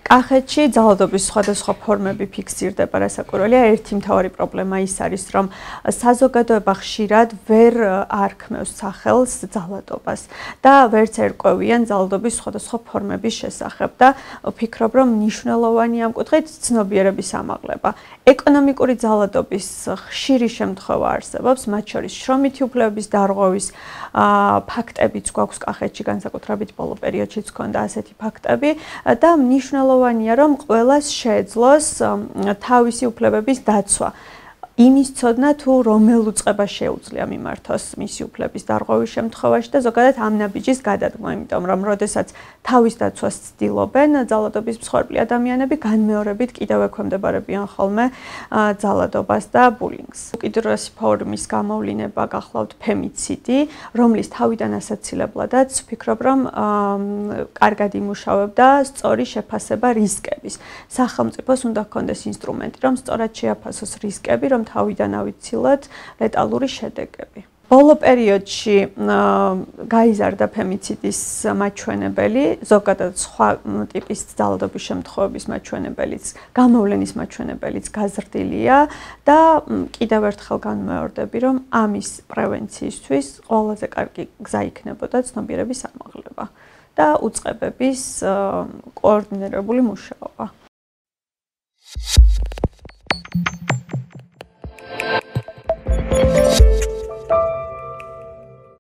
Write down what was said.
კახეთში ძალადობის სხვადასხვა ფორმები ფიქსირდება, რასაკვირველია, ერთი მთავარი პრობლემა ის არის, რომ საზოგადოება ხშირად ვერ არქმევს სახელს ძალადობას და ვერც ერკვევიან ძალადობის სხვადასხვა ფორმების შესახებ და ვფიქრობ, რომ მნიშვნელოვანია ამ კუთხით ცნობიერების ამაღლება. ეკონომიკური ძალადობის ხშირი შემთხვევა არსებობს, მათ შორის შრომითი უფლებების დარღვევის ფაქტებიც გვაქვს კახეთში, განსაკუთრებით ბოლო პერიოდშიც ჰქონდა ასეთი ფაქტები და მნიშვნელოვანია, რომ ყველას შეეძლოს თავისი უფლებების დაცვა. იმის ცოდნა თუ რომელ უწყებას შეუძლია მიმართოს მისი უფლების დარღვევის შემთხვევაში და ზოგადად ამ ნაბიჯის გადადგმა, იმიტომ რომ როდესაც თავის დაცვას ცდილობენ ძალადობის მსხვერპლი ადამიანები განმეორებით კიდევ ექვემდებარებიან ხოლმე ძალადობას და ბულინგს. უკიდურესი ფორმის გამოვლინება გახლავთ ფემიციდი, რომლის თავიდან ასაცილებლადაც ვფიქრობ, რომ კარგად იმუშავებდა სწორი შეფასება რისკების. სახელმწიფოს უნდა ჰქონდეს ინსტრუმენტი, რომ სწორად შეაფასოს რისკები, რომ თავიდან ავიცილოთ ლეტალური შედეგები. ბოლო პერიოდში გაიზარდა ფემიციდის მაჩვენებელი, ზოგადად სხვა ტიპის ძალადობის შემთხვევების მაჩვენებელიც, გამოვლენის მაჩვენებელიც გაზრდილია და კიდევ ერთხელ განმეორდები, რომ ამის პრევენციისთვის ყველაზე კარგი გზა იქნებოდა ცნობიერების ამაღლება და უწყებების კოორდინირებული მუშაობა.